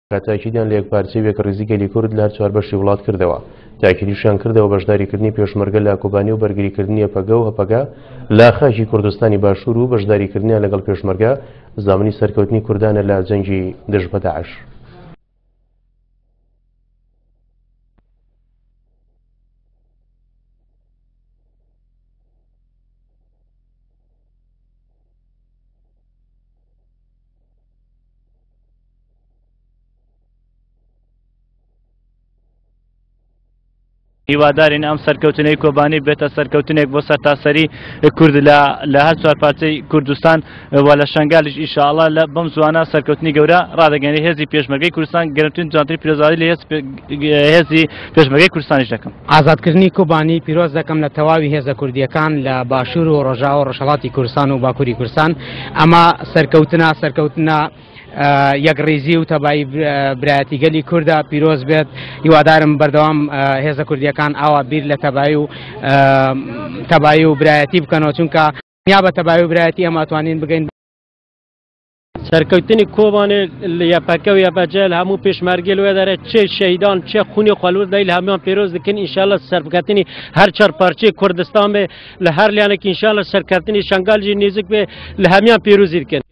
تاکیدیان لە یەکپارچەی و یەکڕیزی گەلی کورد لە هەر چواربەشی وڵات کردەوە. تاکیدیشیان کردەوە بەشداریکردنی پێشمەرگە لە کۆبانی و بەرگریکردنی یەپەگە و هەپەگە لە خاکی کوردستانی باشوور و بەشداریکردنیان لەگەڵ پێشمەرگە زامنی سەرکەوتنی کوردانە لە جەنگی دژ بە داعش. هیوادارین ئەم سەرکەوتنەی کۆبانی بێتە سەرکەوتنێک بۆ سەرتاسەری کورد لە لە هەر چوار پارچەی کوردستان و لە شنگالیش ئیشاءاللە لە بەم زوانە سەرکەوتنی گەورە ڕادەگەێنێ هێزی پێشمەرگەی کوردستان گەرمترین جوانترین پیرۆزبایی لە هێزی پێشمەرگەی کوردستانیش دەکەم. ئازادکردنی کۆبانی پیرۆز دەکەم لە تەواوی هێزە کوردیەکان لە باشوور و ڕۆژاوا و ڕۆژهەڵاتی کوردستان و باکووری کوردستان ئەمە سەرکەوتنە سەرکەوتنە یەکڕیزی و تەبایی برایەتی گەلی کوردە پیرۆز بێت هیوادارم بەردەوام هێزە کوردیەکان ئاوا بیر لە تەبایی و تەبایی و برایەتی بکەنەوە چونکە یا بە تەبایی و برایەتی ئەمە توانین بگەین سەرکەوتنی کۆبانێ لە یەپەکە و یەپەجە لە هەموو پێشمەرگەی لەوێ دەرێ چێ شەهیدان چێ خونی خۆلور دای لە هەموویان پێرۆز دەکەن ئینشاءاللە سەرکەوتنی هەر چەر پارچەی کوردستان بێ لە هەر لیانێک ئینشاءاللە سەرکەوتنی شەنگال ژی نێزیک بێ لە هەموویان پێرۆزی دەکەن.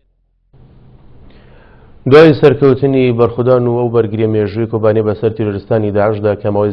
دوای سەرکەوتنی بەرخودان و ئەو بەرگریە مێژووی کۆبانێ بەسەر تیرۆرستانی داعشدا کە ماوەی.